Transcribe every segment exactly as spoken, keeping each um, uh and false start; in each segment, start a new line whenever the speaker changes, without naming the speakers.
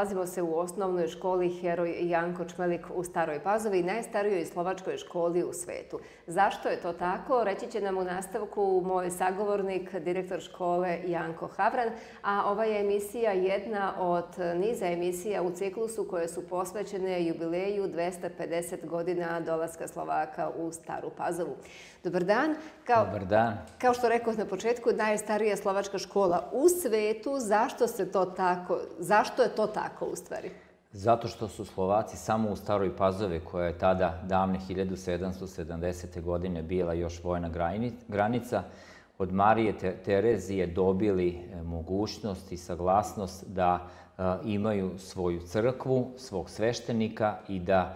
Nalazimo se u osnovnoj školi Heroj Janko Čmelik u Staroj Pazovi, najstarijoj slovačkoj školi u svetu. Zašto je to tako? Reći će nam u nastavku moj sagovornik, direktor škole Janko Havran, a ova je emisija jedna od niza emisija u ciklusu koje su posvećene jubileju dvesta pedeset godina dolaska Slovaka u Staru Pazovu. Dobar dan. Kao,
Dobar dan.
Kao što rekao na početku, najstarija slovačka škola u svetu. Zašto se to tako, zašto je to tako u stvari?
Zato što su Slovaci samo u Staroj Pazovi, koja je tada davne hiljadu sedamsto sedamdesete. godine bila još vojna granica, od Marije Terezije dobili mogućnost i saglasnost da imaju svoju crkvu, svog sveštenika i da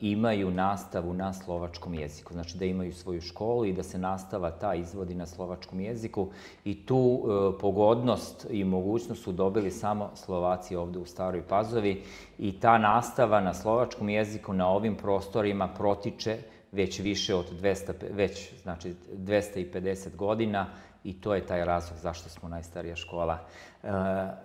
imaju nastavu na slovačkom jeziku. Znači da imaju svoju školu i da se nastava ta izvodi na slovačkom jeziku. I tu pogodnost i mogućnost su dobili samo Slovaci ovde u Staroj Pazovi. I ta nastava na slovačkom jeziku na ovim prostorima protiče već više od dvesta, već, znači, dvesta pedeset godina. I to je taj razlog zašto smo najstarija škola, e,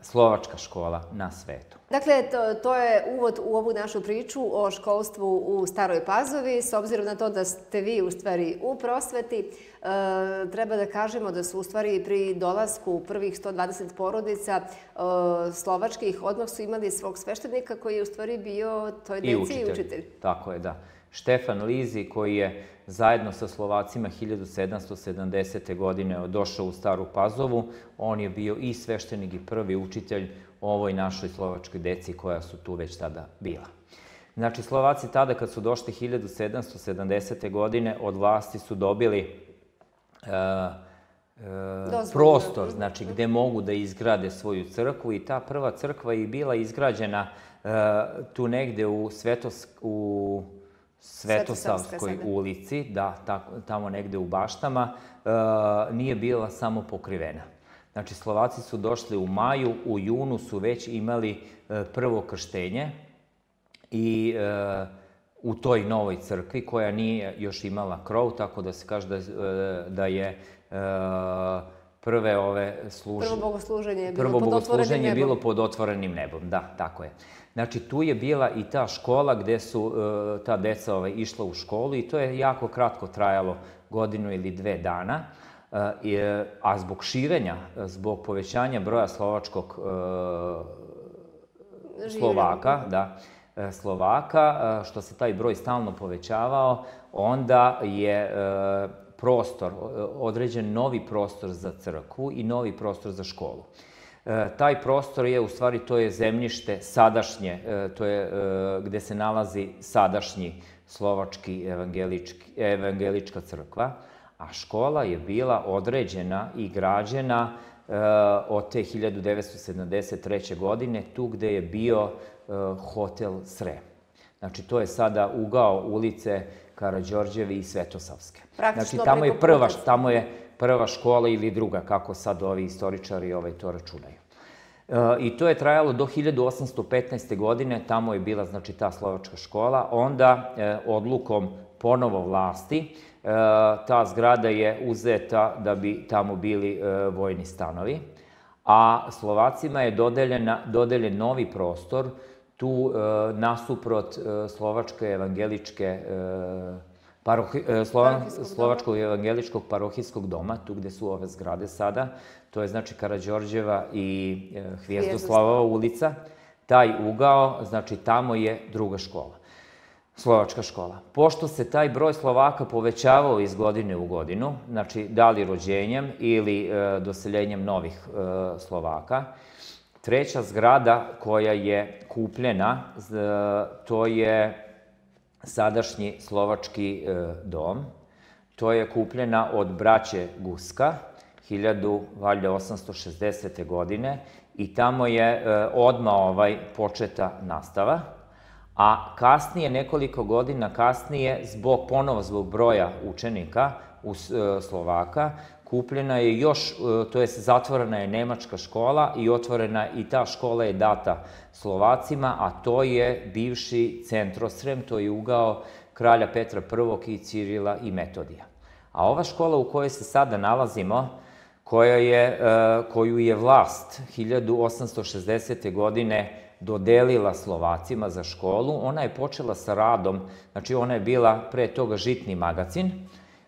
slovačka škola na svetu.
Dakle, to, to je uvod u ovu našu priču o školstvu u Staroj Pazovi. S obzirom na to da ste vi u stvari u prosveti, e, treba da kažemo da su u stvari pri dolasku prvih sto dvadeset porodica e, slovačkih odmah su imali svog sveštenika koji je u stvari bio toj deci i učitelj. I učitelj.
Tako je, da. Štefan Lizi, koji je zajedno sa Slovacima hiljadu sedamsto sedamdesete. godine došao u Staru Pazovu. On je bio i sveštenik i prvi učitelj ovoj našoj slovačkoj deci koja su tu već tada bila. Znači, Slovaci tada kad su došli hiljadu sedamsto sedamdesete. godine od vlasti su dobili uh, uh, prostor, znači gde mogu da izgrade svoju crkvu i ta prva crkva je bila izgrađena uh, tu negde u Svetos... u Svetosavskoj ulici, da, tamo negde u baštama, nije bila samo pokrivena. Znači, Slovaci su došli u maju, u junu su već imali prvo krštenje i u toj novoj crkvi, koja nije još imala krov, tako da se kaže da je prve ove služe...
Prvo bogosluženje je bilo
Prvo
pod otvorenim nebom.
je bilo pod otvorenim nebom, da, tako je. Znači, tu je bila i ta škola gde su ta deca išla u školu i to je jako kratko trajalo, godinu ili dve dana. A zbog širenja, zbog povećanja broja slovačkog Slovaka, da, Slovaka, što se taj broj stalno povećavao, onda je prostor, određen novi prostor za crkvu i novi prostor za školu. Taj prostor je, u stvari, to je zemljište sadašnje, to je gde se nalazi sadašnji slovački evangelička crkva, a škola je bila određena i građena od te hiljadu devetsto sedamdeset treće. godine, tu gde je bio hotel Srem. Znači, to je sada ugao ulice Karađorđevi i Svetosavske. Znači, tamo je prva, tamo je prva škola ili druga, kako sad ovi istoričari ovaj to računaju. I to je trajalo do hiljadu osamsto petnaeste. godine, tamo je bila, znači, ta slovačka škola. Onda, odlukom ponovo vlasti, ta zgrada je uzeta da bi tamo bili vojni stanovi, a Slovacima je dodeljen novi prostor, tu nasuprot Slovačke evangeličke Slovačkog evangeličkog parohijskog doma, tu gde su ove zgrade sada, to je znači Karađorđeva i Hvijezdoslavova ulica, taj ugao, znači tamo je druga škola, slovačka škola. Pošto se taj broj Slovaka povećavao iz godine u godinu, znači da li rođenjem ili doseljenjem novih Slovaka, treća zgrada koja je kupljena, to je sadašnji slovački dom. To je kupljena od braće Guska, hiljadu osamsto šezdesete. godine, i tamo je odmah ovaj početa nastava. A kasnije, nekoliko godina kasnije, zbog, ponovo zbog broja učenika u Slovaka, kupljena je još, to je zatvorena je nemačka škola i otvorena i ta škola je data Slovacima, a to je bivši Centrosrem, to je ugao kralja Petra prvog i Cirila i Metodija. A ova škola u kojoj se sada nalazimo, koja je, koju je vlast hiljadu osamsto šezdesete. godine dodelila Slovacima za školu. Ona je počela sa radom, znači ona je bila pre toga žitni magacin,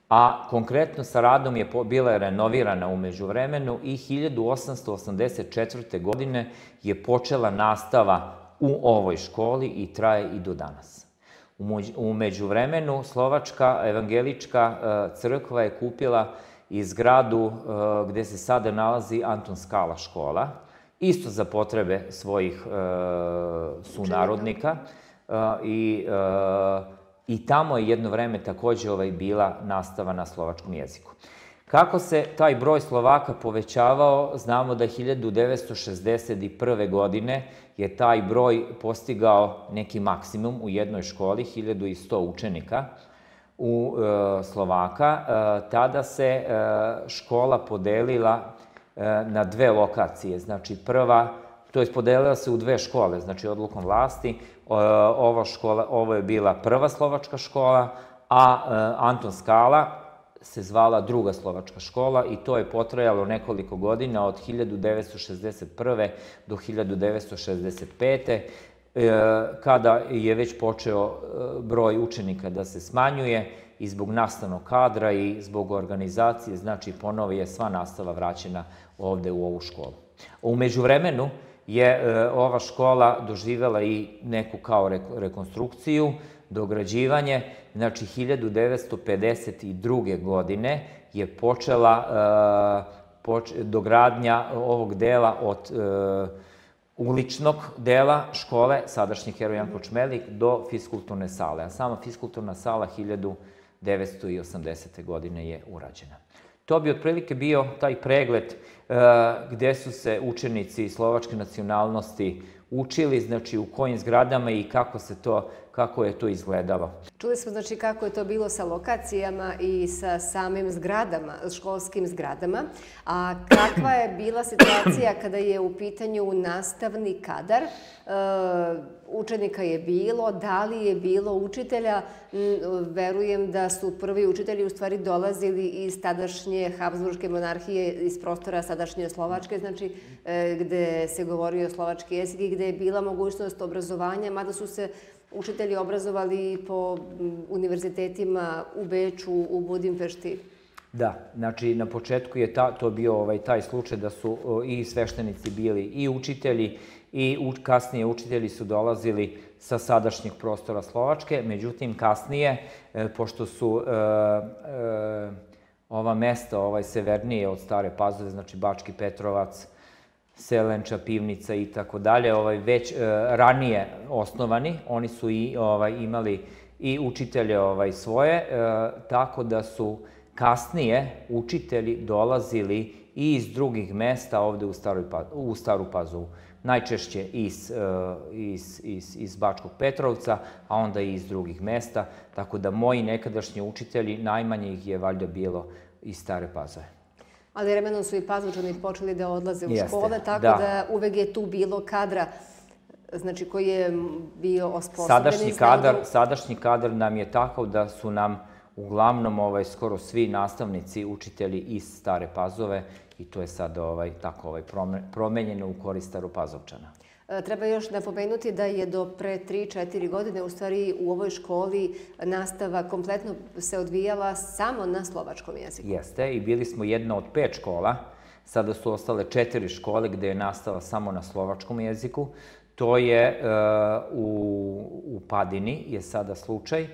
a konkretno sa radom je bila renovirana u međuvremenu i hiljadu osamsto osamdeset četvrte. godine je počela nastava u ovoj školi i traje i do danas. U međuvremenu Slovačka evangelička crkva je kupila i zgradu gde se sada nalazi Anton Skala škola, isto za potrebe svojih sunarodnika i i tamo je jedno vreme takođe bila nastava na slovačkom jeziku. Kako se taj broj Slovaka povećavao, znamo da hiljadu devetsto šezdeset prve. godine je taj broj postigao neki maksimum u jednoj školi, hiljadu sto učenika u Slovaka. Tada se škola podelila na dve lokacije. Znači prva, to je podelila se u dve škole, znači odlukom vlasti. Ovo je bila prva slovačka škola, a Anton Skala se zvala druga slovačka škola i to je potrajalo nekoliko godina od hiljadu devetsto šezdeset prve. do hiljadu devetsto šezdeset pete. kada je već počeo broj učenika da se smanjuje i zbog nastavnog kadra i zbog organizacije, znači ponovo je sva nastava vraćena ovde u ovu školu. U međuvremenu je ova škola doživela i neku kao rekonstrukciju, dograđivanje. Znači, hiljadu devetsto pedeset druge. godine je počela dogradnja ovog dela od uličnog dela škole, sadašnji Heroj Janko Čmelik, do fiskulturne sale. A sama fiskulturna sala hiljadu devetsto osamdesete. godine je urađena. To bi otprilike bio taj pregled gde su se učenici slovačke nacionalnosti učili, znači u kojim zgradama i kako se to, kako je to izgledalo.
Čuli smo znači kako je to bilo sa lokacijama i sa samim zgradama, školskim zgradama, a kakva je bila situacija kada je u pitanju nastavni kadar? Učenika je bilo, da li je bilo učitelja? Verujem da su prvi učitelji u stvari dolazili iz tadašnje Habsburške monarhije, iz prostora sadašnje Slovačke, znači gde se govorio slovački jezik i gde je bila mogućnost obrazovanja, mada su se učitelji obrazovali po univerzitetima u Beču, u Budimpešti.
Da, znači na početku je to bio taj slučaj da su i sveštenici bili i učitelji i kasnije učitelji su dolazili sa sadašnjeg prostora Slovačke. Međutim, kasnije, pošto su ova mesta severnije od Stare Pazove, znači Bački Petrovac, Selenča, Pivnica i tako dalje, već ranije osnovani, oni su imali i učitelje svoje, tako da su kasnije učitelji dolazili i iz drugih mesta ovde u Staru Pazovu. Najčešće iz Bačkog Petrovca, a onda i iz drugih mesta, tako da moji nekadašnji učitelji, najmanje ih je valjda bilo iz Stare Pazove.
Ali vremenom su i Pazovčani počeli da odlaze u škole, tako da uvek je tu bilo kadra, znači koji je bio osposobljeni.
Sadašnji kadar nam je takav da su nam uglavnom skoro svi nastavnici, učitelji iz Stare Pazove i to je sad tako promenjeno u korist Staropazovčana.
Treba još napomenuti da je do pre tri četiri godine u stvari u ovoj školi nastava kompletno se odvijala samo na slovačkom jeziku.
Jeste, i bili smo jedna od pet škola. Sada su ostale četiri škole gde je nastava samo na slovačkom jeziku. To je u Padini je sada slučaj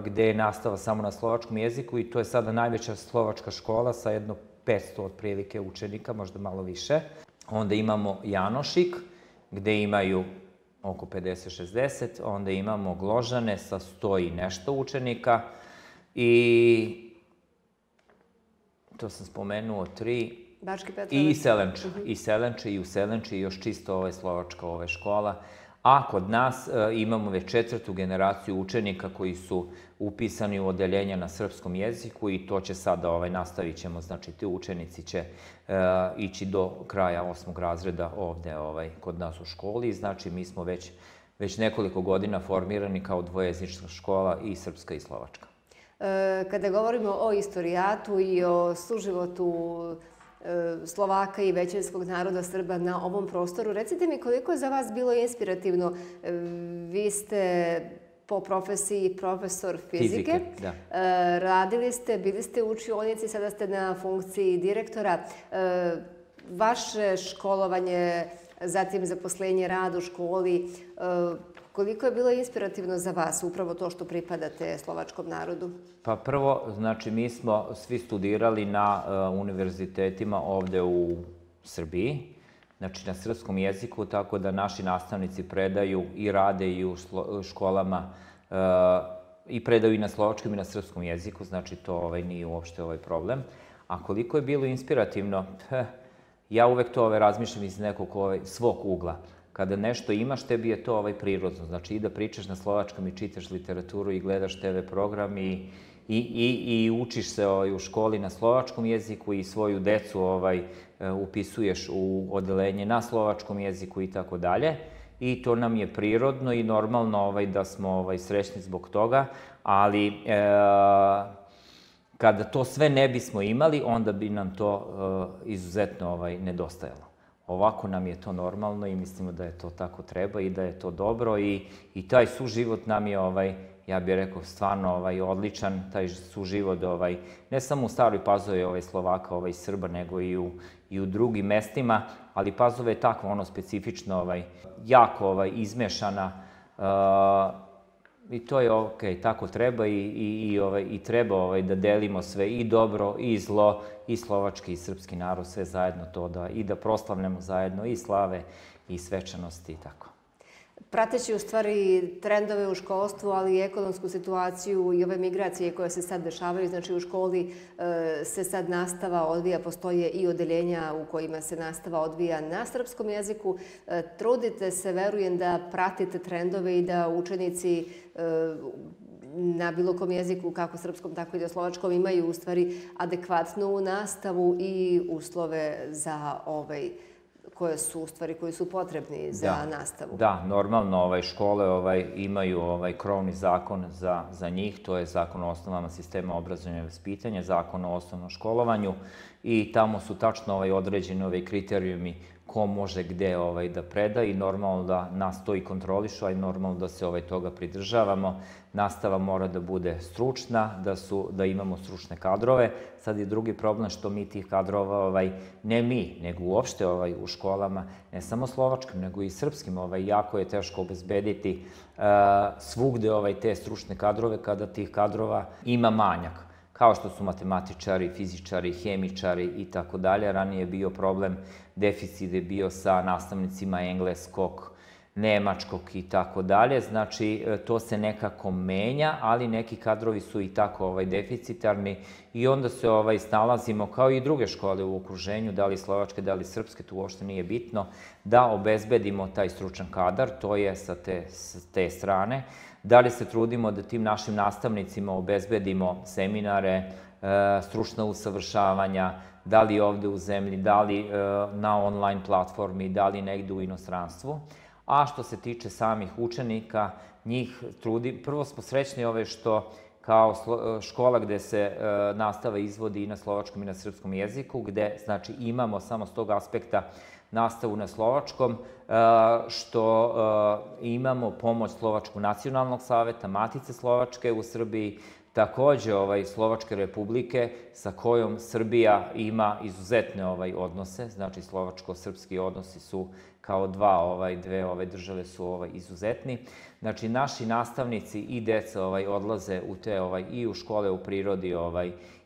gde je nastava samo na slovačkom jeziku i to je sada najveća slovačka škola sa jedno petsto otprilike učenika, možda malo više. Onda imamo Janošik, gde imaju oko pedeset šezdeset, onda imamo Gložane sa sto i nešto učenika i to sam spomenuo tri.
Bački Petrovac.
I Selenča. I Selenča i u Selenči još čisto slovačka škola. A kod nas imamo već četvrtu generaciju učenika koji su upisani u odeljenja na srpskom jeziku i to će sada, nastavit ćemo, znači ti učenici će ići do kraja osmog razreda ovde kod nas u školi. Znači mi smo već nekoliko godina formirani kao dvojezična škola i srpska i slovačka.
Kada govorimo o istorijatu i o suživotu Slovaka i većinskog naroda Srba na ovom prostoru. Recite mi koliko je za vas bilo inspirativno. Vi ste po profesiji profesor fizike. Radili ste, bili ste u učionici, sada ste na funkciji direktora. Vaše školovanje, zatim zaposlenje, rad u školi, koliko je bilo inspirativno za vas upravo to što pripadate slovačkom narodu?
Pa prvo, znači mi smo svi studirali na univerzitetima ovde u Srbiji, znači na srpskom jeziku, tako da naši nastavnici predaju i rade i u školama i predaju i na slovačkom i na srpskom jeziku, znači to nije uopšte ovaj problem. A koliko je bilo inspirativno, ja uvek to razmišljam iz nekog svog ugla. Kada nešto imaš, tebi je to prirodno. Znači i da pričaš na slovačkom i čitaš literaturu i gledaš te ve program i učiš se u školi na slovačkom jeziku i svoju decu upisuješ u odelenje na slovačkom jeziku i tako dalje. I to nam je prirodno i normalno da smo srećni zbog toga, ali kada to sve ne bismo imali, onda bi nam to izuzetno nedostajalo. Ovako nam je to normalno i mislimo da je to tako treba i da je to dobro i taj suživot nam je, ja bih rekao, stvarno odličan, taj suživot ne samo u Staroj Pazovi Slovaka i Srba, nego i u drugim mestima, ali Pazova je takva, ono specifično, jako izmešana i to je okej, tako treba i treba da delimo sve i dobro i zlo, i slovački i srpski narod, sve zajedno to da i da proslavljamo zajedno i slave i svečanosti i tako.
Prateći u stvari trendove u školstvu, ali i ekonomsku situaciju i ove migracije koje se sad dešavaju, znači u školi se sad nastava odvija, postoje i odeljenja u kojima se nastava odvija na srpskom jeziku. Trudite se, verujem, da pratite trendove i da učenici na bilo kom jeziku, kako srpskom, tako i na slovačkom, imaju u stvari adekvatnu nastavu i uslove za ovaj koje su u stvari, koji su potrebni za nastavu.
Da, normalno škole imaju krovni zakon za njih, to je Zakon o osnovama sistema obrazovanja i vaspitanja, Zakon o osnovnom školovanju i tamo su tačno određeni kriterijumi ko može gde da preda i normalno da nas to i kontrolišu, a i normalno da se toga pridržavamo. Nastava mora da bude stručna, da imamo stručne kadrove. Sad je drugi problem što mi tih kadrova, ne mi, nego uopšte u školama, ne samo slovačkim, nego i srpskim, jako je teško obezbediti svugde te stručne kadrove kada tih kadrova ima manjak. Kao što su matematičari, fizičari, hemičari i tako dalje. Ranije je bio problem, deficit je bio sa nastavnicima engleskog, nemačkog i tako dalje. Znači, to se nekako menja, ali neki kadrovi su i tako deficitarni i onda se snalazimo, kao i druge škole u okruženju, da li slovačke, da li srpske, tu uopšte nije bitno, da obezbedimo taj stručan kadar, to je sa te strane. Da li se trudimo da tim našim nastavnicima obezbedimo seminare, stručna usavršavanja, da li ovde u zemlji, da li na online platformi, da li negde u inostranstvu. A što se tiče samih učenika, njih trudi, prvo smo srećni ove što kao škola gde se nastava izvodi i na slovačkom i na srpskom jeziku, gde znači imamo samo s tog aspekta nastavu na slovačkom, što imamo pomoć Slovačkog nacionalnog saveta, Matice Slovačke u Srbiji, takođe Slovačke republike sa kojom Srbija ima izuzetne odnose, znači slovačko-srpski odnosi su kao dve ove države su izuzetni. Znači naši nastavnici i deca odlaze i u škole u prirodi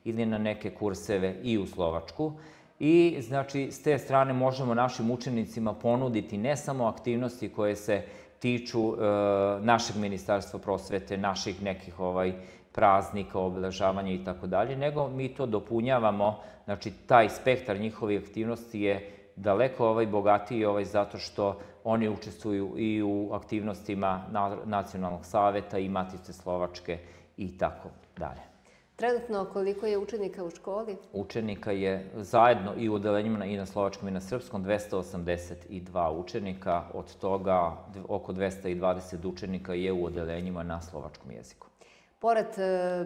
ili na neke kurseve i u Slovačku. I, znači, s te strane možemo našim učenicima ponuditi ne samo aktivnosti koje se tiču našeg ministarstva prosvete, naših nekih praznika, obeležavanja i tako dalje, nego mi to dopunjavamo, znači, taj spektar njihovih aktivnosti je daleko bogatiji zato što oni učestvuju i u aktivnostima Nacionalnog saveta i Matice Slovačke i tako dalje.
Trenutno koliko je učenika u školi?
Učenika je zajedno i u odelenjima i na slovačkom i na srpskom dvesta osamdeset dva učenika, od toga oko dvesta dvadeset učenika je u odelenjima na slovačkom jeziku.
Pored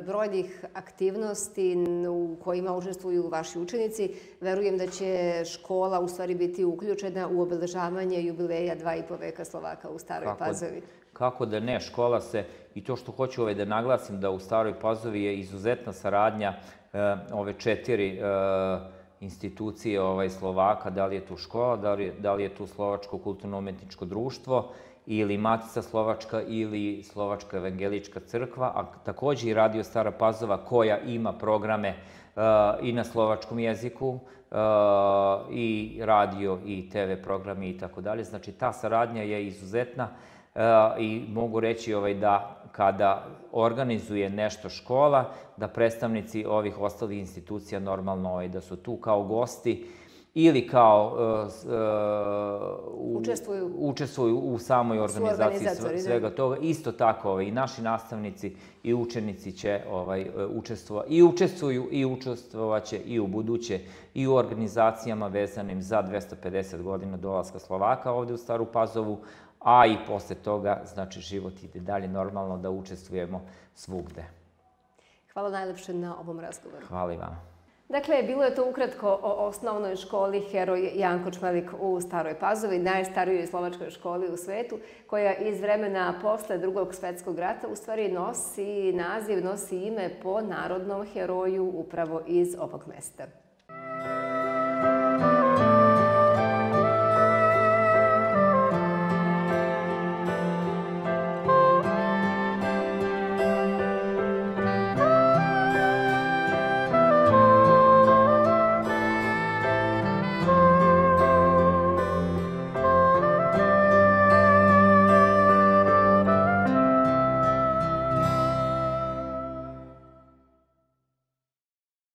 brojnih aktivnosti u kojima učestvuju vaši učenici, verujem da će škola u stvari biti uključena u obeležavanje jubileja dva i po veka Slovaka u Staroj Pazovi.
Kako da ne, škola se, i to što hoću da naglasim, da u Staroj Pazovi je izuzetna saradnja ove četiri institucije Slovaka, da li je tu škola, da li je tu Slovačko kulturno-umetničko društvo, ili Matica Slovačka ili Slovačka evangelička crkva, a također i Radio Stara Pazova koja ima programe i na slovačkom jeziku, i radio i te ve programi i tako dalje. Znači ta saradnja je izuzetna i mogu reći da kada organizuje nešto škola, da predstavnici ovih ostalih institucija normalno da su tu kao gosti ili kao učestvuju u samoj organizaciji svega toga. Isto tako i naši nastavnici i učenici će učestvovati i učestvuju i učestvovaće i u buduće i u organizacijama vezanim za dvesta pedeset godina dolaska Slovaka ovde u Staru Pazovu, a i posle toga, znači, život ide dalje normalno da učestvujemo svugde.
Hvala najlepše na ovom razgovoru.
Hvala i vama.
Dakle, bilo je to ukratko o osnovnoj školi Heroj Janko Čmelik u Staroj Pazovi, najstarijoj slovačkoj školi u svetu, koja iz vremena posle Drugog svetskog rata u stvari nosi naziv, nosi ime po narodnom heroju upravo iz ovog mesta.